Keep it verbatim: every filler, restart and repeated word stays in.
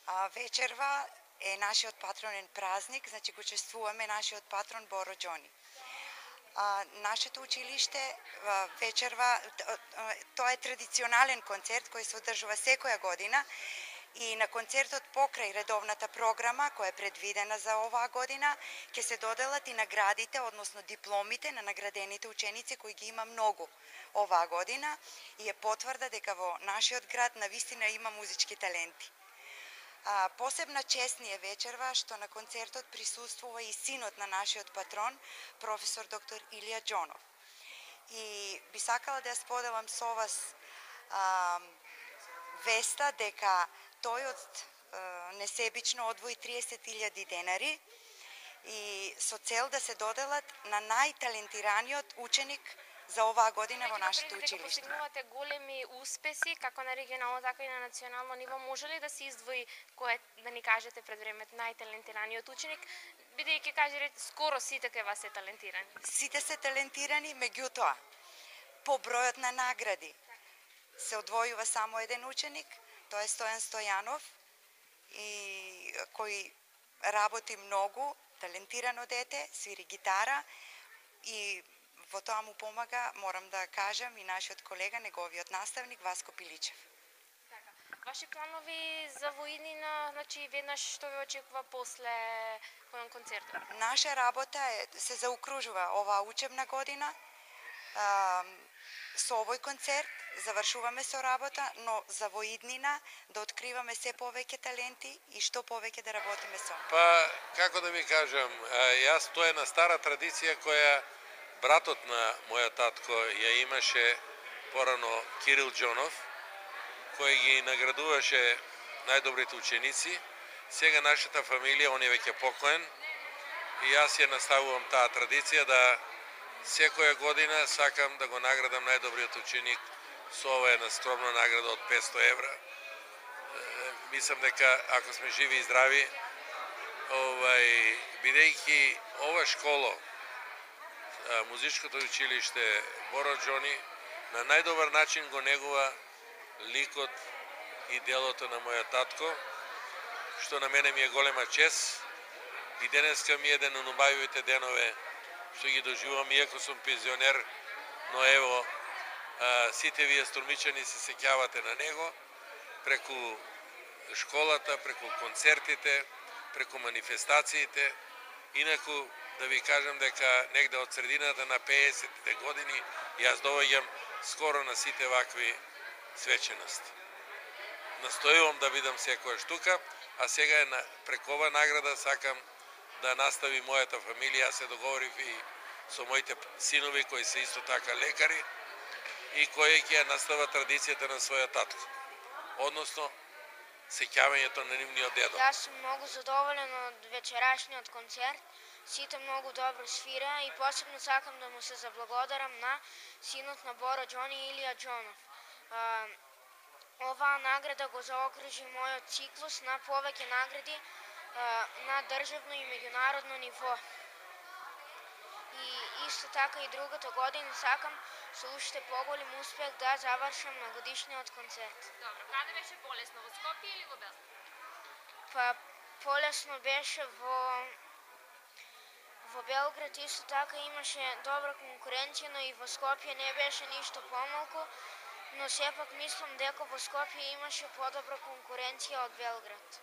А, вечерва е нашиот патронен празник, значи го чествуваме нашиот патрон Боро Џони. А, нашето училиште а, вечерва, тоа е традиционален концерт кој се одржува секоја година и на концертот покрај редовната програма која е предвидена за оваа година ќе се доделат и наградите, односно дипломите на наградените ученици кои ги има многу оваа година и е потврда дека во нашиот град навистина има музички таленти. А, посебна чест ни е вечерва што на концертот присуствува и синот на нашиот патрон, професор доктор Илија Џонов. И би сакала да ја споделам со вас а, веста дека тој од а, несебично одвои триесет илјади денари и со цел да се доделат на најталентираниот ученик за оваа година во нашето училиште. Дека постигнувате големи успеси, како на регионално, така и на национално ниво, може ли да се издвои кој, да ни кажете пред времето, најталентираниот ученик, бидејќи кажете скоро сите кај вас се талентирани? Сите се талентирани, меѓутоа, по бројот на награди се одвојува само еден ученик, тоа е Стојан Стојанов, и кој работи многу, талентирано дете, свири гитара и во тоа му помага, морам да кажам, и нашиот колега, неговиот наставник Васко Пиличев. Така. Ваши планови за во иднина, значи веднаш што ве очекува после концертот? Наша работа е се заокружува оваа учебна година а, со овој концерт, завршуваме со работа, но за во иднина да откриваме се повеќе таленти и што повеќе да работиме со. Па, како да ви кажам, јас тоа е на стара традиција која братот на мојот татко ја имаше порано, Кирил Џонов, кој ги наградуваше најдобрите ученици. Сега нашата фамилија, он е веќе покоен, и јас ја наставувам таа традиција да секоја година сакам да го наградам најдобриот ученик со ова една скромна награда од петсто евра. Мислам дека ако сме живи и здрави, овај, бидејќи ова школа, музичкото училиште Боро Џони, на најдобар начин го негува ликот и делото на мојот татко, што на мене ми е голема чест. И денеска ми е еден од најубавивите денове што ги доживувам, иако сум пензионер, но ево, а, сите вие струмичани се сеќавате на него, преку школата, преку концертите, преку манифестациите. Инаку, да ви кажам дека негде од средината на пеесеттите години јас доаѓам скоро на сите вакви свечености. Настојувам да бидам секоја штука, а сега е преку ова награда сакам да настави мојата фамилија. Јас се договорив и со моите синови кои се исто така лекари и кои ќе настават традицијата на својот татко, односно сеќавањето на нивниот дедо. Јас сум многу задоволен од вечерашниот концерт. Сите многу добро свира и посебно сакам да му се заблагодарам на синот на Боро Џони, Илија Џонов. Оваа награда го заокружи мојот циклус на повеќе награди на државно и меѓународно ниво. И исто така и другата година сакам со уште поголем успех да завршам на годишниот концерт. Добро, каде беше полесно, во Скопје или во Белград? Па полесно беше во во Белград, исто така имаше добра конкуренција, но и во Скопје не беше ништо помалку, но сепак мислам дека во Скопје имаше подобра конкуренција од Белград.